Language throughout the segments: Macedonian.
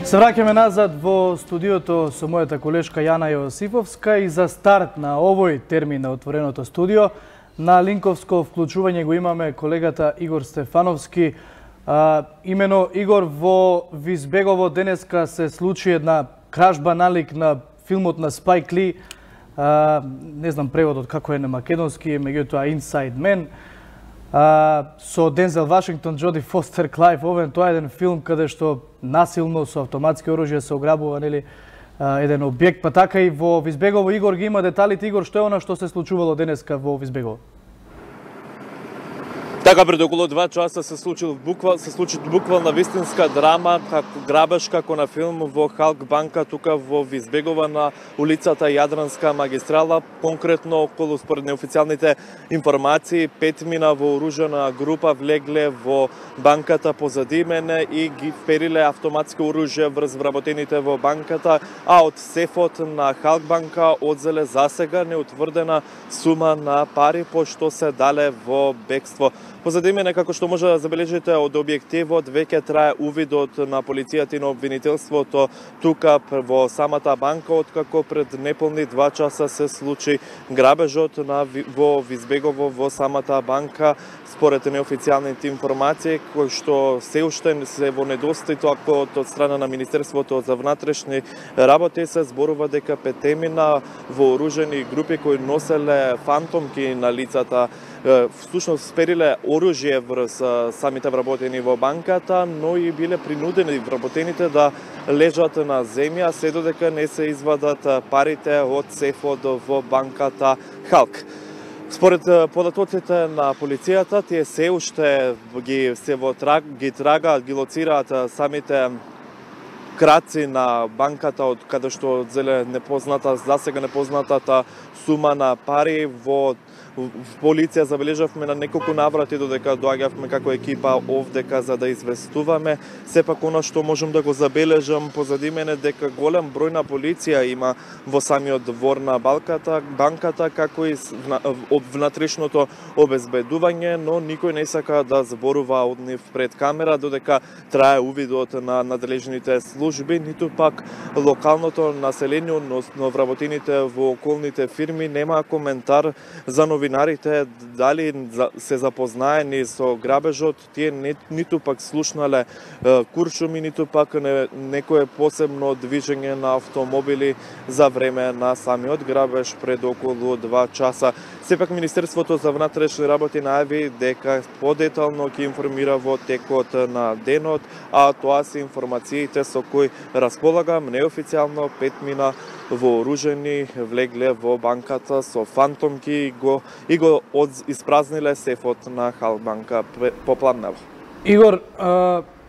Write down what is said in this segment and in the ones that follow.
Се враќаме назад во студиото со мојата колешка Јана Јосифовска и за старт на овој термин на отвореното студио на линковско вклучување го имаме колегата Игор Стефановски. Имено Игор, во Визбегово денеска се случи една кражба налик на филмот на Спайк Ли. Не знам преводот како е на македонски, меѓутоа Inside Man. Со Дензел Вашингтон, Джоди Фостер, Клайв Овен, тоа е еден филм каде што насилно со автоматски оружје се ограбува еден објект, па така и во Визбегово. Игор ги има деталите. Игор, што е она што се случувало денеска во Визбегово? Така, пред околу 2 часа се случи буквална вистинска драма, грабеж како на филм во Халк банка тука во Визбегово на улицата Јадранска магистрала. Конкретно, околу според неофицијалните информации, 5 мина вооружена група влегле во банката позади мене и ги впериле автоматски оружје врз вработените во банката, а од сефот на Халк банка одзеле засега неутврдена сума на пари, пошто се дале во бегство. Позади мене, како што може да забележите од објективот, веќе трае увидот на полицијата и на обвинителството тука во самата банка, откако пред неполни 2 часа се случи грабежот во Визбегово во самата банка. Според неофицијалните информации, кои што се уште се во недостаток од страна на Министерството за внатрешни работи, се зборува дека 5 мина вооружени групи кои носеле фантомки на лицата, всушност спериле оружје врз самите вработени во банката, но и биле принудени вработените да лежат на земја, се додека не се извадат парите од сефот во банката Халк. Според податоците на полицијата, тие се уште ги лоцираат самите краци на банката од каде што зеле засега непознатата сума на пари. Во полиција забележавме на неколку наврати додека доаѓавме како екипа овдека за да известуваме. Сепак она што можам да го забележам позади мене дека голем број на полиција има во самиот двор на банката, како и внатрешното обезбедување, но никој не сака да зборува од нив пред камера додека трае увидот на надлежните служби, ниту пак локалното население, односно вработените во околните фирми нема коментар за новинарите дали се запознаени со грабежот. Тие ниту пак слушнале куршуми, ниту пак некое посебно движење на автомобили за време на самиот грабеж пред околу 2 часа. Сепак Министерството за внатрешни работи најави дека подетално ќе информира во текот на денот, а тоа се информациите со кои располагам. Неофицијално 5 мина вооружени влегле во банката со фантомки и го испразниле сефот на Халк банка попладнево. Игор,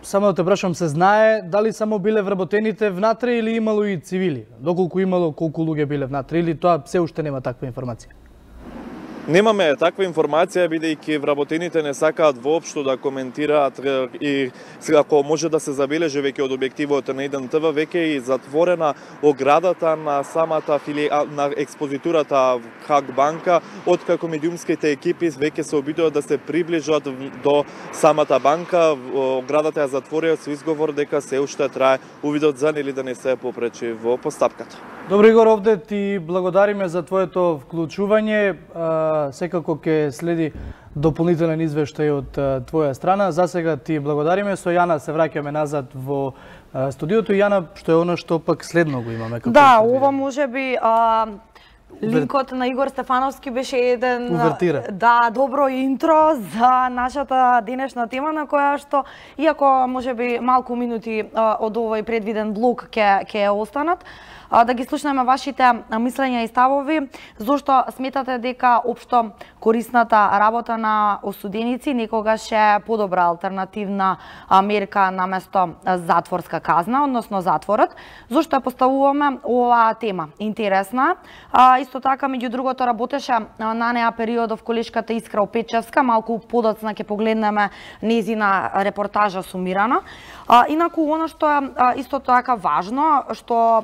само да те прашам, се знае дали само биле вработените внатре или имало и цивили? Доколку имало, колку луѓе биле внатре, или тоа се уште нема таква информација? Немаме таква информација, бидејќи вработените не сакаат воопшто да коментираат и ако може да се забележи веќе од објективот на 1 ТВ, веќе и затворена оградата на самата на експозитурата Халк банка, откако медиумските екипи веќе се обидува да се приближат до самата банка. Оградата ја затворија со изговор дека се уште трае увидот за нели да не се попречи во постапката. Добро, Игор, овде ти благодариме за твоето вклучување. Секако ќе следи дополнителен извештај од твоја страна. За сега ти благодариме. Со Јана се враќаме назад во студиото. Јана, што е она што пак следно го имаме? Да, ова можеби линкот на Игор Стефановски беше еден добро интро за нашата денешна тема, на која што, иако можеби малку минути од овој предвиден блок ќе останат, да ги слушнеме вашите мислења и ставови, зошто сметате дека општо корисната работа на осуденици некогаш е подобра алтернативна мерка наместо затворска казна, односно затворот. Зошто ја поставуваме оваа тема? Интересна. Исто така, меѓу другото, работеше на неа периодов колешката Искра Опечевска, малку подоцна ќе погледнеме незина репортажа сумирана. Инаку, оно што е исто така важно, што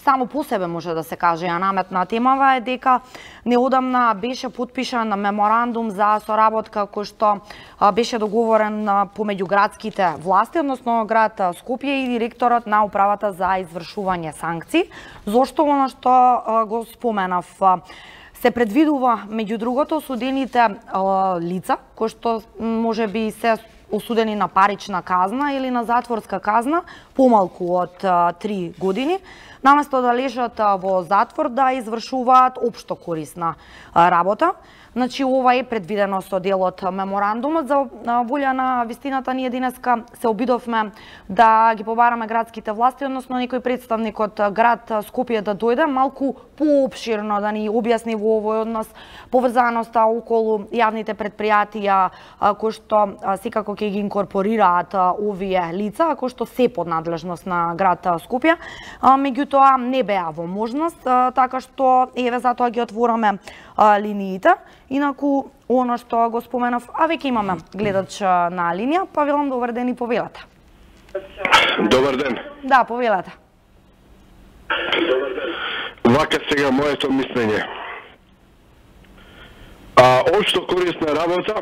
само по себе може да се каже ја наметна темава е дека неодамна беше подпишан меморандум за соработка кој што беше договорен помеѓу градските власти, односно град Скопје и директорот на управата за извршување санкции. Зошто она што го споменав? Се предвидува, меѓу другото, осудените лица, кои што може би се осудени на парична казна или на затворска казна, помалку од 3 години, наместо да лежат во затвор, да извршуваат општо корисна работа. Значи, ова е предвидено со делот меморандумот. За волја на вистината, ние денеска се обидовме да ги побараме градските власти, односно некој представник од град Скопје да дојде малку поопширно да ни објасни во овој однос поврзаноста околу јавните предпријатија кои што секако ќе ги инкорпорираат овие лица, кои што се под надлежност на град Скопје. Меѓутоа не беа во можност, така што еве затоа ги отвораме линиите. Инаку, оно што го споменав, а веќе имаме гледач на линија, па велам добар ден и повелете. Добар ден. Да, повелете. Вака сега моето мислење. Општо корисна работа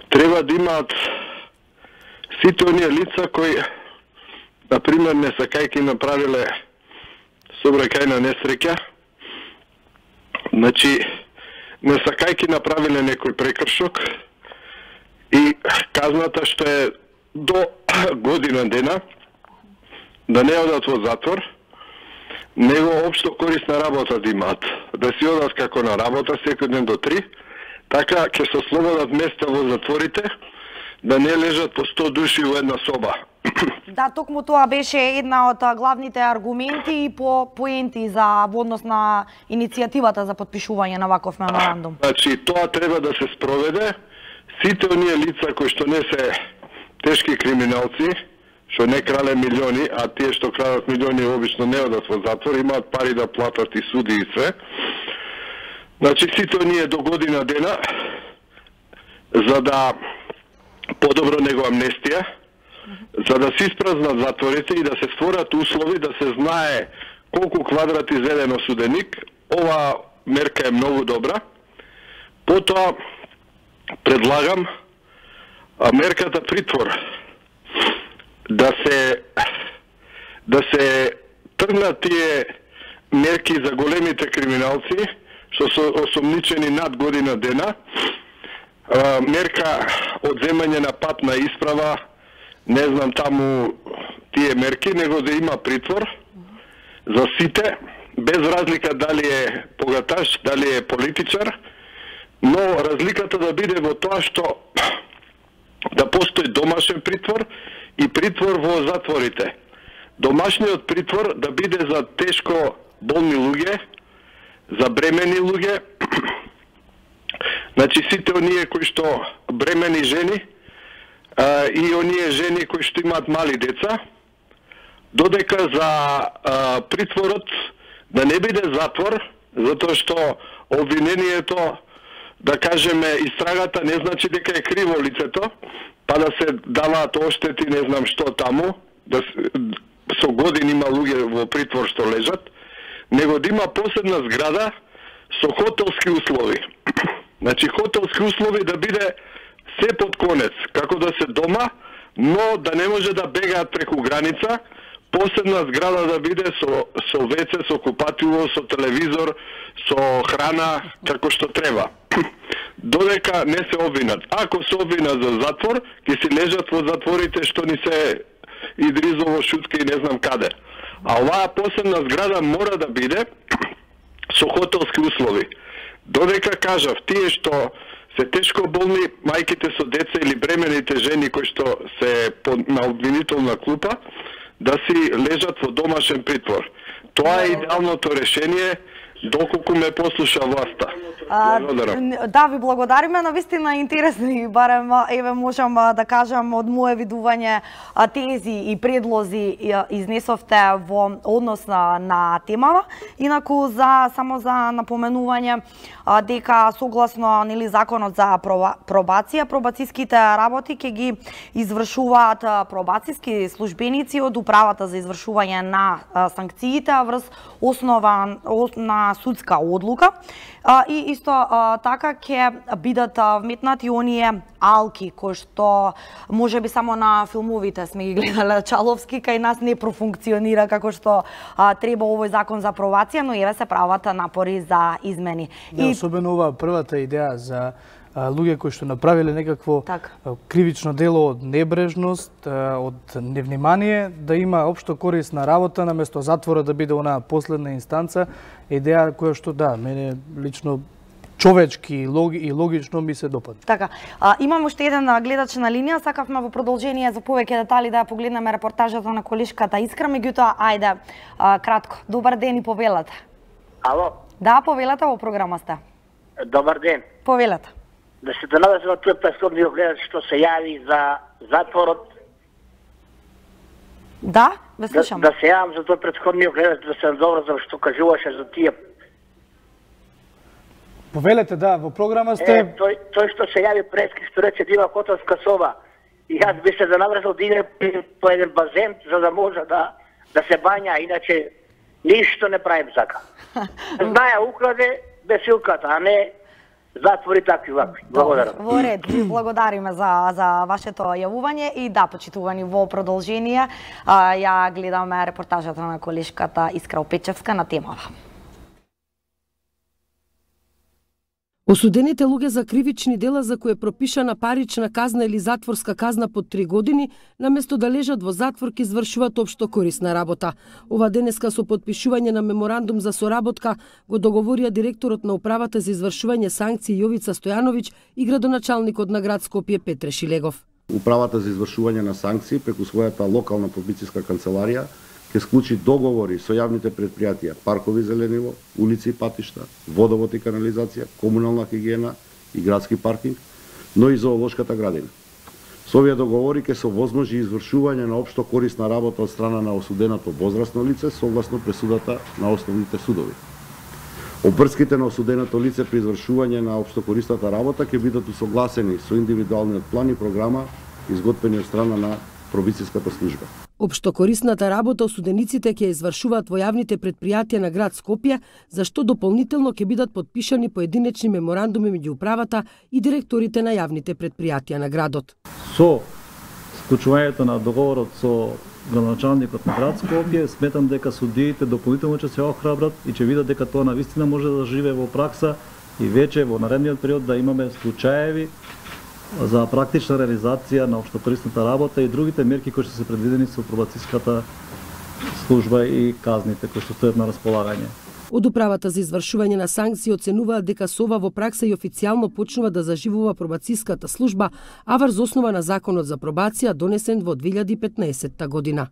треба да имаат сите оние лица кои, например, не сакајќи направиле сообраќајна несреќа, значи, не сакајќи направиле некој прекршок и казната што е до година дена да не одат во затвор, него општо корисна работа да имаат. Да си одат како на работа секој ден до 3, така ќе се слободат места во затворите, да не лежат по 100 души во една соба. Да, токму тоа беше една од главните аргументи и поенти за во однос на иницијативата за подпишување на ваков меморандум. Значи, тоа треба да се спроведе. Сите оние лица кои што не се тешки криминалци, што не крале милиони, а тие што крадат милиони обично не одат во затвор, имаат пари да платат и суди и се. Значи, сите оние до година дена, за да подобро него амнестија, за да се испразнат затворите и да се створат услови да се знае колку квадрати зеден осуденик, ова мерка е многу добра. Потоа предлагам мерката притвор да се тргнат тие мерки за големите криминалци што се осомничени над година дена, мерка одземање на патна исправа, не знам таму тие мерки, него да има притвор за сите, без разлика дали е богаташ, дали е политичар, но разликата да биде во тоа што да постои домашен притвор и притвор во затворите. Домашниот притвор да биде за тешко болни луѓе, за бремени луѓе, значи сите оние кои што бремени жени, и оние жени кои што имаат мали деца, додека за притворот да не биде затвор, затоа што обвинението, да кажеме, истрагата не значи дека е криво лицето, па да се даваат оштети, не знам што таму, да со години има луѓе во притвор што лежат, него да има посебна зграда со хотелски услови. Значи, хотелски услови да биде се под конец, како да се дома, но да не може да бегаат преку граница, посебна зграда да биде со веце, со купатило, со телевизор, со храна, како што треба. Додека не се обвинат. Ако се обвинат за затвор, ќе си лежат во затворите што ни се Идризово, Шутка и не знам каде. А оваа посебна зграда мора да биде со хотелски услови. Додека кажав, тие што се тешко болни, мајките со деца или бремените жени кои што се на обвинителна клупа, да си лежат во домашен притвор. Тоа е идеалното решение доколку ме послуша власта. Благодарам. Да, ви благодариме, навистина интересни, барем еве можам да кажам од мое видување тези и предлози изнесовте во однос на темава. Инаку само за напоменување дека согласно нели законот за пробација, пробацијските работи ќе ги извршуваат пробацијски службеници од управата за извршување на санкциите врз основа на судска одлука. И исто така ќе бидат вметнати оние алки кои што можеби само на филмовите сме ги гледале Чаловски, кај нас не профункционира како што треба овој закон за пробација, но еве се прават напори за измени. Да, особено ова првата идеја за луѓе кои што направиле некакво кривично дело од небрежност, од невнимание, да има општо корисна работа наместо затвора да биде онаа последна инстанца, идеја која што да, мене лично човечки и логично ми се допадна. Така, имам уште еден гледач на линија, сакавме во продолжение за повеќе детали да ја погледнеме репортажата на колешката Искра, меѓутоа ајде кратко. Добар ден и повелате. Ало? Да, повелате, во програма сте. Добар ден. Повелате. Да се донадам на тој претходниот гледач што се јави за затворот. Да, ве слушам. Да се јавам за тој претходниот гледач, да се добро за што кажуваше за тие. Повелете, да, во програма сте... Тој што се јави прески, што рече да има котовска соба. И јас би се занаврзал да иде по еден базен, за да може да се бања, иначе ништо не правим сака. Знаја украде бесилката, а не затвори такви вакви. Благодарам. Во ред, благодариме за вашето јавување и да, почитувани во продолжение, ја гледаме репортажата на колешката Искра Опечевска на темава. Осудените луѓе за кривични дела за кои е пропишана парична казна или затворска казна под 3 години, наместо да лежат во затвор, ќе извршуваат општо корисна работа. Ова денеска со подпишување на меморандум за соработка го договорија директорот на управата за извршување санкции Јовица Стојановиќ и градоначалникот на град Скопје Петре Шилегов. Управата за извршување на санкции преку својата локална пробацијска канцеларија ќе склучи договори со јавните предпријатија, паркови зелениво, улици и патишта, водовод и канализација, комунална хигиена и градски паркинг, но и зоолошката градина. Со овие договори ќе се овозможи извршување на општо корисна работа од страна на осуденото возрасно лице согласно пресудата на основните судови. Обврските на осуденото лице при извршување на општо корисната работа ќе бидат усогласени со индивидуалниот план и програма изготвени од страна на пробацијската служба. Општокорисната работа осудениците ќе извршуваат во јавните предпријатија на град Скопје, за што дополнително ќе бидат подпишани поединечни меморандуми меѓу управата и директорите на јавните предпријатија на градот. Со склучувањето на договорот со градоначалникот на град Скопје, сметам дека судиите дополнително ќе се охрабрат и ќе видат дека тоа навистина може да живее во пракса и веќе во наредниот период да имаме случаеви за практична реализација на општокорисната работа и другите мерки кои што се предвидени со пробацијската служба и казните кои што стојат на располагање. Од управата за извршување на санкции оценуваат дека со ова во пракса и официјално почнува да заживува пробацијската служба, а врз основа на законот за пробација донесен во 2015 година.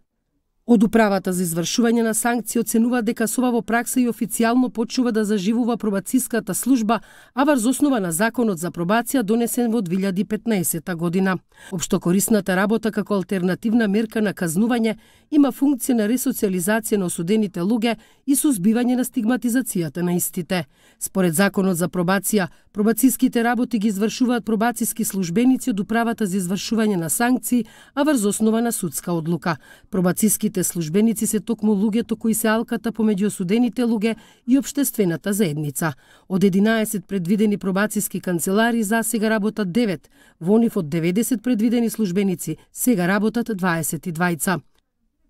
Од управата за извршување на санкции оценува дека со ова во пракса и официјално почнува да заживува пробацијската служба, а врз основа на законот за пробација донесен во 2015 година. Општокорисната работа како алтернативна мерка на казнување има функција на ресоциализација на осудените луѓе и сузбивање на стигматизацијата на истите. Според законот за пробација, пробацијските работи ги извршуваат пробацијски службеници од управата за извршување на санкции, а врз основа на судска одлука. Пробацијските службеници се токму луѓето кои се алката помеѓу осудените луѓе и општествената заедница. Од 11 предвидени пробацијски канцелари за сега работат 9, во нив од 90 предвидени службеници сега работат 22.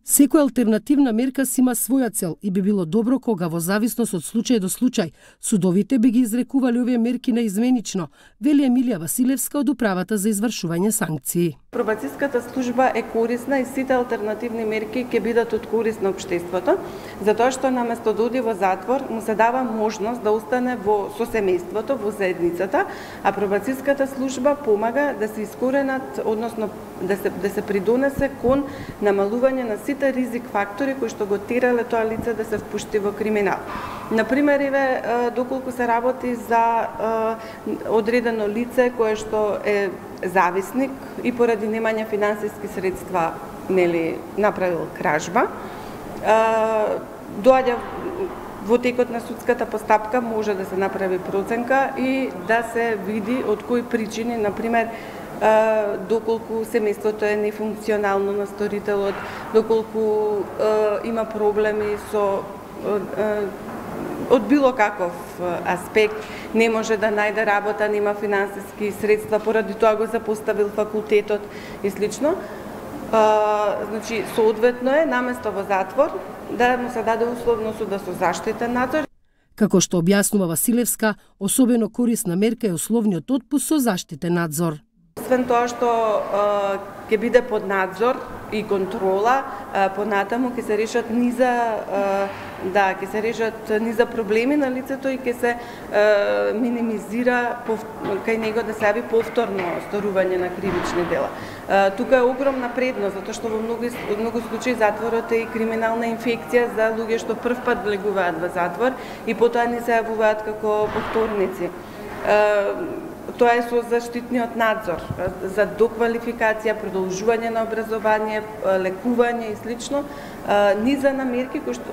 Секоја алтернативна мерка си има своја цел и би било добро кога во зависност од случај до случај судовите би ги изрекували овие мерки наизменично, вели Емилија Василевска од управата за извршување санкции. Пробацијската служба е корисна и сите алтернативни мерки ќе бидат од корис на општеството, затоа што наместо да оди во затвор му се дава можност да остане со семејството, во заедницата, а пробацијската служба помага да се искоренат, односно да се придонесе кон намалување на сите ризик фактори кои што го терале тоа лице да се впушти во криминал. Например, доколку се работи за одредено лице кое што е зависник и поради немање финансиски средства направил кражба, доаѓа во текот на судската постапка може да се направи проценка и да се види од кои причини, например, доколку семејството е нефункционално на сторителот, доколку има проблеми со од било каков аспект, не може да најде работа, нема финансиски средства, поради тоа го запоставил факултетот и слично. Значи, соодветно е, наместо во затвор, да му се даде условно суда со заштитен надзор. Како што објаснува Василевска, особено корисна мерка е условниот отпуст со заштитен надзор. Освен тоа што ќе биде под надзор и контрола, понатаму ќе се решат низа проблеми на лицето и ќе се минимизира кај него да се јави повторно сторување на кривични дела. Тука е огромна предност, затоа што во многу случаи затворот е и криминална инфекција за луѓе што прв пат влегуваат во затвор и потоа не се јавуваат како повторници. Тоа е со заштитниот надзор за доквалификација, продолжување на образование, лекување и слично, низа на мерки кои што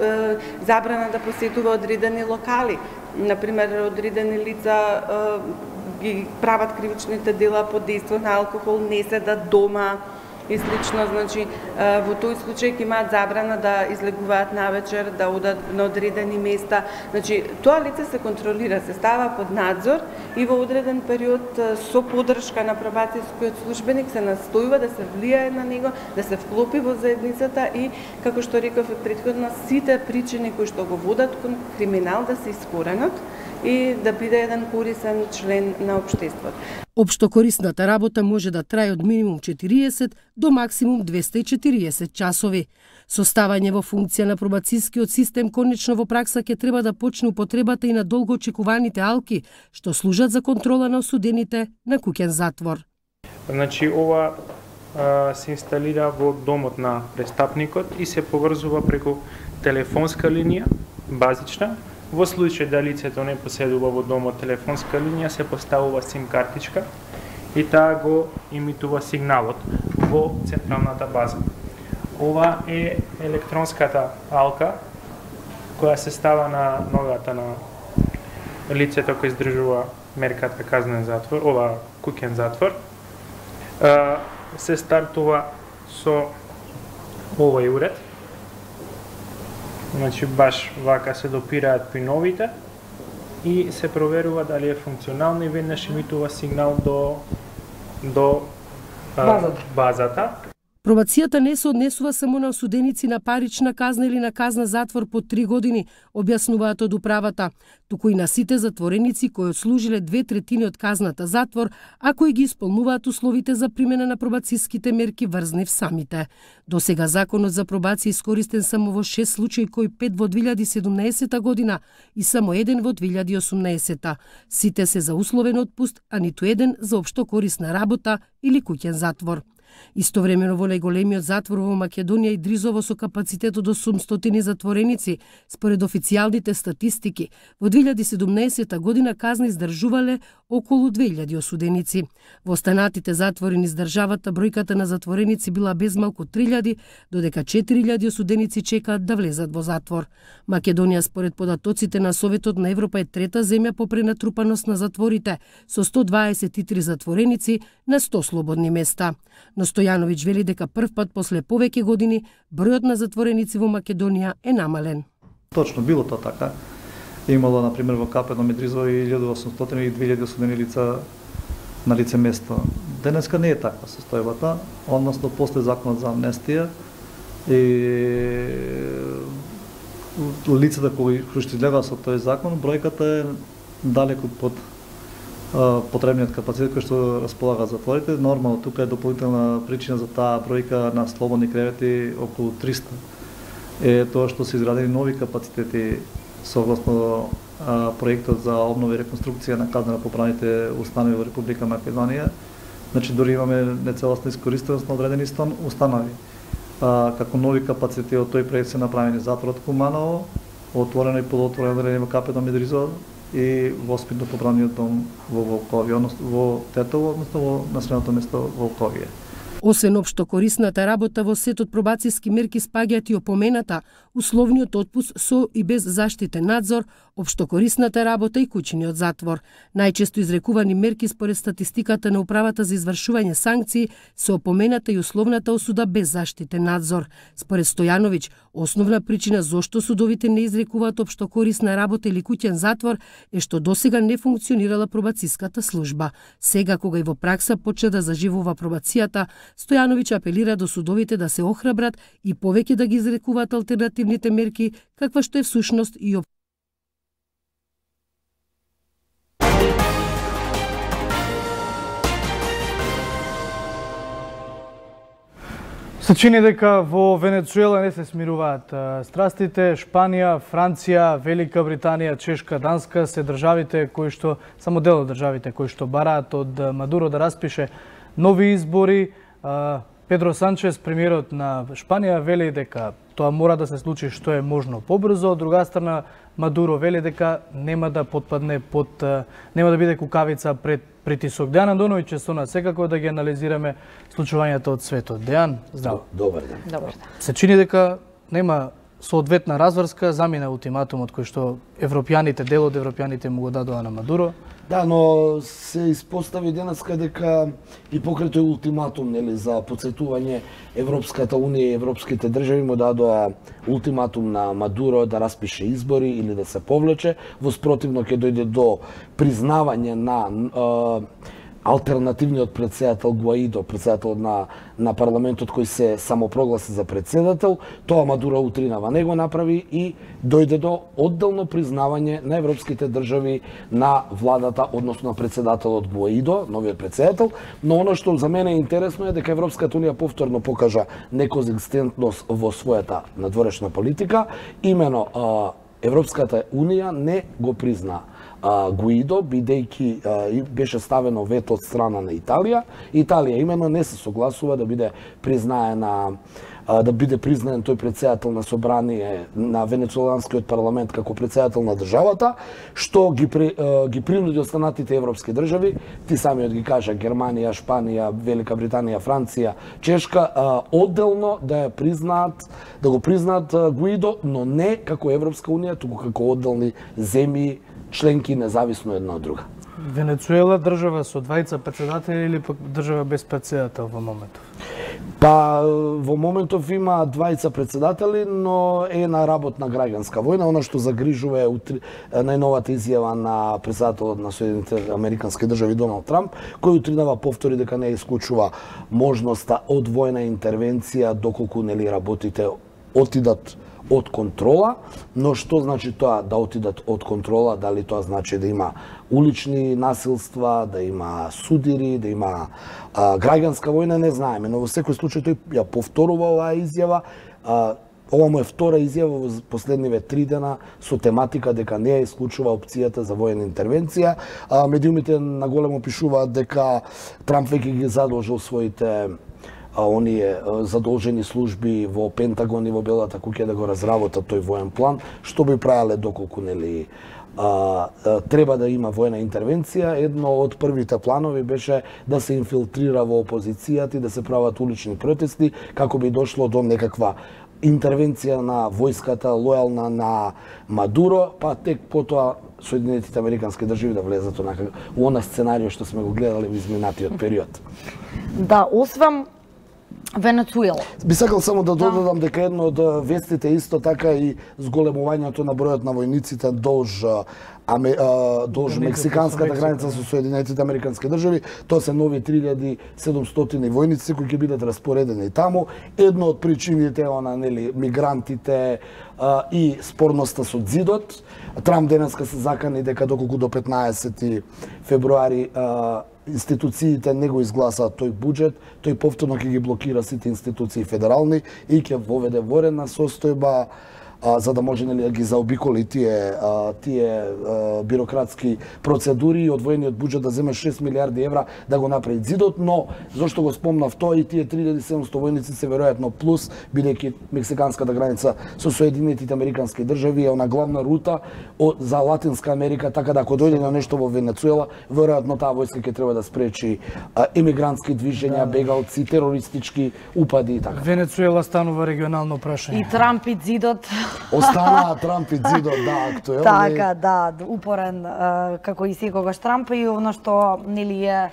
забрана да посетува одредени локали. Например, одредени лица ги прават кривичните дела под дејство на алкохол, не седат дома и слично, значи во тој случај ќе имаат забрана да излегуваат навечер, да одат на одредени места. Значи тоа лице се контролира, се става под надзор и во одреден период со поддршка на пробацијскиот службеник се настојува да се влијае на него, да се вклопи во заедницата и, како што реков претходно, сите причини кои што го водат кон криминал да се искоренат и да биде еден корисен член на општеството. Општо корисната работа може да трае од минимум 40 до максимум 240 часови. Составање во функција на пробацијскиот систем конечно во пракса ќе треба да почне употребата и на долго очекуваните алки, што служат за контрола на осудените на куќен затвор. Значи, ова се инсталира во домот на престапникот и се поврзува преку телефонска линија, базична. Во случај да лицето не поседува во домот телефонска линија, се поставува сим картичка и таа го имитува сигналот во централната база. Ова е електронската алка која се става на ногата на лицето кој издржува мерката казнен затвор, куќен затвор. Се стартува со овој уред. Значи, баш вака се допираат пиновите и се проверува дали е функционално и веднаш имитува сигнал до базата. Пробацијата не се однесува само на осуденици на парична казна или на казна затвор по 3 години, објаснуваат од управата, туку и на сите затвореници кои отслужиле 2/3 од казната затвор, а кои ги исполнуваат условите за примена на пробацијските мерки врз нив самите. До сега законот за пробација искористен само во 6 случаи, кои 5 во 2017 година и само 1 во 2018. Сите се за условен отпуст, а ниту еден за општо корисна работа или куќен затвор. Истовремено во најголемиот затвор во Македонија Идризово со капацитет од 800 затвореници, според официјалните статистики, во 2017 година казна издржувале околу 2000 осуденици. Во останатите затвори низ државата бројката на затвореници била безмалку 3000, додека 4000 осуденици чекаат да влезат во затвор. Македонија според податоците на Советот на Европа е трета земја по пренатрупаност на затворите, со 123 затвореници на 100 слободни места. Но Стојановиќ вели дека прв пат после повеќе години бројот на затвореници во Македонија е намален. Точно, било тоа така. Имало, например, во Капено Медризово и 1800 и 2000 осудени лица на лице место. Денеска не е таква состојбата, односно после законот за амнестија и лицата кои што излегаа со тој закон, бројката е далеку под потребниот капацитет кој што располага затворите. Нормално, тука е дополнителна причина за таа бројка на слободни кревети околу 300. Е тоа што се изградени нови капацитети согласно проектот за обнова и реконструкција на казнено-поправните установи во Република Македонија. Значи, дори имаме нецелосна искористеност на одредени установи. како нови капацитети од тој проект се направени затворот Куманово, отворено и полуотворено одделение во КПД Медризо и воспитно поправниот дом во Волковије, односно во Тетово, односно во населеното место Волковије. Освен општо корисната работа во сетот пробацијски мерки спаѓаат и опомената, условниот отпуск со и без заштитен надзор, општо корисната работа и куќиниот затвор. Најчесто изрекувани мерки според статистиката на Управата за извршување санкции се опомената и условната осуда без заштитен надзор. Според Стојановиќ, основна причина зошто судовите не изрекуваат општо корисна работа или куќен затвор е што досега не функционирала пробацијската служба. Сега, кога и во пракса почна да заживува пробацијата, Стојановиќ апелира до судовите да се охрабрат и повеќе да ги изрекуваат алтернативните мерки, каква што е всушност и Се чини дека во Венецуела не се смируваат страстите. Шпанија, Франција, Велика Британија, Чешка, Данска се државите кои што, само дел од државите кои што бараат од Мадуро да распише нови избори. Педро Санчес, премиерот на Шпанија, вели дека тоа мора да се случи што е можно побрзо. Од друга страна, Мадуро вели дека нема да потпадне под, нема да биде кукавица пред притисок. Дејан Андоновиќ е со нас, секако да ги анализираме случувањата од светот. Дејан, здраво. Добар ден. Добар ден. Се чини дека нема соодветна разврска, замина ултиматумот кој што европјаните, дел од европјаните му го дадоа на Мадуро. Да, но се испостави денеска дека и покрај тој ултиматум, нели, за потсетување Европската унија и европските држави му дадоа ултиматум на Мадуро да распише избори или да се повлече, во спротивно ќе дојде до признавање на алтернативниот председател Гуаидо, председател на парламентот кој се самопрогласи за председател. Тоа Мадуро утринава не го направи и дојде до одделно признавање на европските држави на владата, односно на председателот Гуаидо, новиот председател. Но оно што за мене е интересно е дека Европската унија повторно покажа неконзистентност во својата надворешна политика. Имено Европската унија не го призна Гуидо, бидејќи беше ставено вето од страна на Италија. Италија имено не се согласува да биде признаена, да биде признаен тој председател на собрание на венецуеланскиот парламент како председател на државата, што ги принуди останатите европски држави, ти самиот ги кажа Германија, Шпанија, Велика Британија, Франција, Чешка, одделно да ја признаат, да го признаат Гуидо, но не како Европска унија, туку како одделни земји членки независно една од друга. Венецуела држава со двајца председатели или пак држава без председател во моментов? Па во моментов има двајца председатели, но е на работна граѓанска војна. Она што загрижува е најновата изјава на председателот на Соединетите Американски држави Доналд Трамп, кој утринава повтори дека не исклучува можноста од војна интервенција доколку нели работите отидат од контрола, но што значи тоа да отидат од контрола, дали тоа значи да има улични насилства, да има судири, да има граѓанска војна, не знаеме, но во секој случај тој ја повторува оваа изјава. Ова му е втора изјава во последниве 3 дена со тематика дека не ја исклучува опцијата за војна интервенција. Медиумите наголемо пишуваат дека Трамп веќе ги задолжил своите оние задолжени служби во Пентагон и во Белата куќа да го разработат тој воен план, што би правеле доколку нели треба да има војна интервенција. Едно од првите планови беше да се инфилтрира во опозицијата и да се прават улични протести, како би дошло до некаква интервенција на војската лојална на Мадуро, па тек потоа Соединетите Американски држави да влезат во она сценарио што сме го гледали во изминатиот период. Да, освен Венецуела. Би сакал само да додадам дека едно од вестите исто така и зголемувањето на бројот на војниците долж мексиканската граница со Соединетите Американски држави. Тоа се нови 3700 војници кои ќе бидат распоредени таму. Едно од причините е она нели мигрантите и спорноста со ѕидот. Трамп денеска се закани дека доколку до 15 февруари институциите не го изгласаат тој буџет, тој повторно ќе ги блокира сите институции федерални и ќе воведе военна состојба за да може да ги заобиколи тие бирократски процедури и одвоениот буџет да земе 6 милиарди евра да го направи зидот, но зошто го спомнав тоа и тие 3700 војници се веројатно плюс, бидејќи мексиканската граница со Соединетите Американски држави е она главна рута за Латинска Америка, така да ако дојде на нешто во Венецуела, веројатно таа војска ќе треба да спречи емигрантски движења, бегалци, терористички упади и така. Венецуела станува регионално прашање. И Трамп и зидот. Останаа Трамп и зидот, да, актуелни. Така, да, упорен како и секогаш Трамп и оно што нели е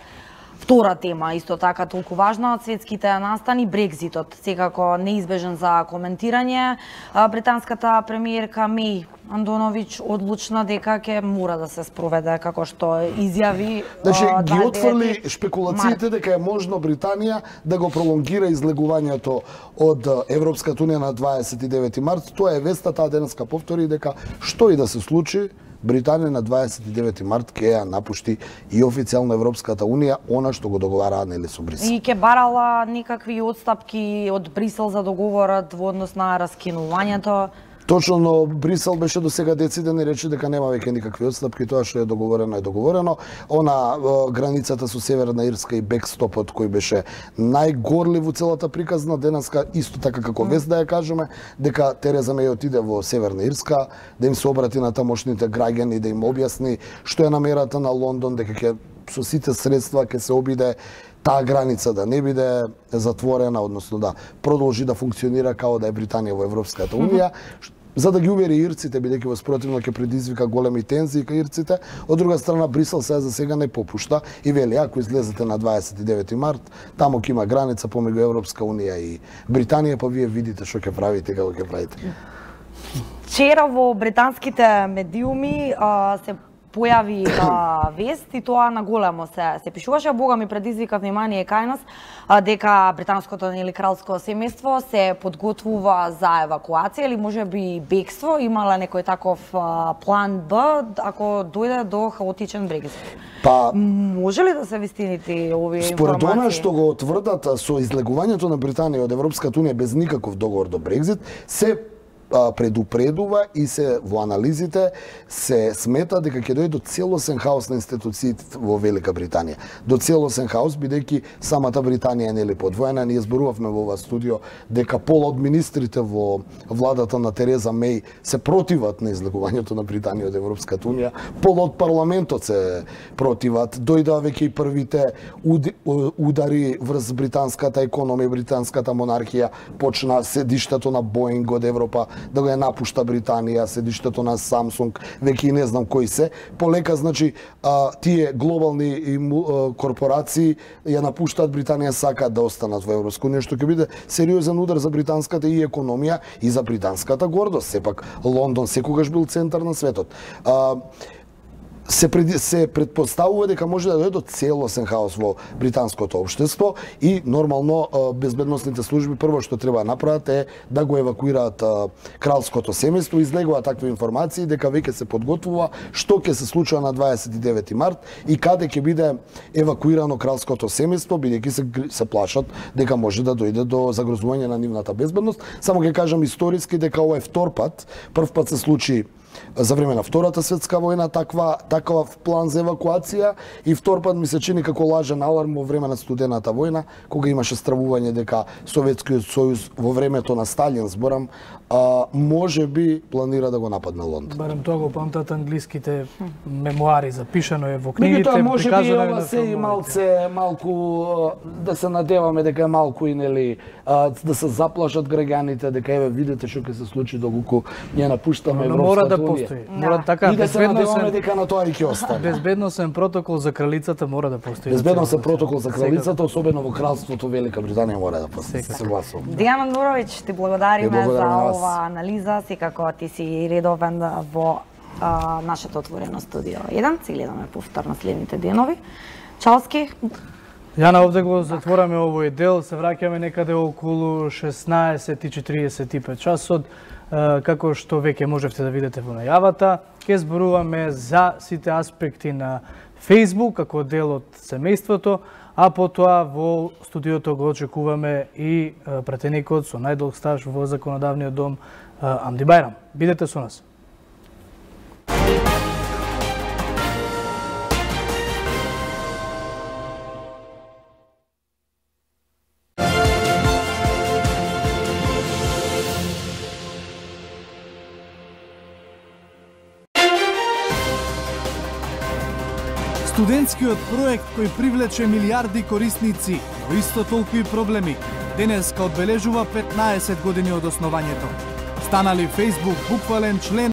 втора тема, исто така толку важна од светските настани, Брекзитот, секако неизбежен за коментирање. Британската премиерка Меј Андоновиќ одлучна дека ќе мора да се спроведе, како што изјави. Значи, ги отфрли шпекулациите дека е можно Британија да го пролонгира излегувањето од Европската унија на 29 март. Тоа е веста, таа денеска повтори дека што и да се случи, Британија на 29 март ќе ја напушти и официјално Европската унија, она што го договараа нели со Брисел. И ќе барала никакви отстапки од Брисел за договорот во однос на раскинувањето. Точно, но Брисел беше до сега дециден и рече дека нема веќе никакви отстапки, тоа што е договорено е договорено. Она границата со Северна Ирска и бекстопот кој беше најгорлив во целата приказна, денеска исто така како вест да ја кажеме, дека Тереза Меј отиде во Северна Ирска, да им се обрати на тамошните граѓани, да им објасни што е намерата на Лондон, дека ќе со сите средства ќе се обиде таа граница да не биде затворена, односно да продолжи да функционира како да е Британија во Европската унија, за да ги увери ирците, бидејќи во спротивно ќе предизвика големи тензии кај ирците. Од друга страна, Брисел сега за сега не попушта и вели, ако излезете на 29 март, тамо ќе има граница помеѓу Европска унија и Британија, па вие видите што ќе правите и како ќе правите. Вчера во британските медиуми се појави вест и тоа на големо се пишуваше, бога ми предизвика внимание кај нас дека британското или кралско семејство се подготвува за евакуација или можеби бегство, имала некој таков план Б ако дојде до хаотичен Брекзит. Па може ли да се вистините овие информации? Според она што го тврдат со излегувањето на Британија од Европската унија без никаков договор до Брекзит, се предупредува и се во анализите се смета дека ќе дојде до целосен хаос на институциите во Велика Британија. До целосен хаос, бидејќи самата Британија е нели подвоена. Ние зборувавме во ова студио дека пола од министрите во владата на Тереза Меј се противат на излегувањето на Британија од Европската унија. Пола од парламентот се противат. Дојдоа веќе и првите удари врз британската економија, британската монархија, почна седиштето на Боинг од Европа да го ја напушта Британија, седиштето на Samsung, веќе и не знам кои се. Полека, значи, тие глобални корпорации ја напуштаат Британија, сакаат да останат во Европска унија, што ќе биде сериозен удар за британската и економија и за британската гордост. Сепак, Лондон секогаш бил центар на светот. Се предпоставува дека може да дојде до целосен хаос во британското општество и нормално безбедносните служби прво што треба да направат е да го евакуираат кралското семејство. Излегува такви информации дека веќе се подготвува што ќе се случува на 29 март и каде ќе биде евакуирано кралското семејство, бидејќи се плашат дека може да дојде до загрозување на нивната безбедност. Само ќе кажам историски дека ова е втор пат. Прв пат се случи за време на Втората светска војна таков план за евакуација и втор пат ми се чини како лажен аларм во време на Студената војна, кога имаше стравување дека Советскиот сојуз во времето на Сталин, зборам, може би планира да го нападне Лондон. Барем тоа го памтат англиските мемуари, запишано е во книгите. Меѓутоа може би ова се и малку да се надеваме дека е малку и нели да се заплашат граѓаните дека еве видите што ќе се случи доколку ние напуштаме Европската унија. Мора така и да се надеваме дека на тоа и ќе остане. Безбедносен протокол за кралицата мора да постои. Безбедносен протокол за кралицата, особено во кралството Велика Британија мора да постои. Согласувам. Дејан Андуровиќ, ти благодариме за ова анализа, секако ти си редовен во нашето отворено студио 1. Си гледаме повтор на следните денови. Чалски. Јана, овде го затвораме овој дел, се враќаме некаде околу 16:45 часот. Како што веќе можевте да видите во најавата, ќе зборуваме за сите аспекти на Facebook како дел од семејството, а потоа во студиото го очекуваме и пратеникот со најдолг стаж во законодавниот дом Амди Бајрам. Бидете со нас. Студентскиот проект кој привлече милиарди корисници, но исто толку и проблеми, денеска одбележува 15 години од основањето. Станали Facebook буквален член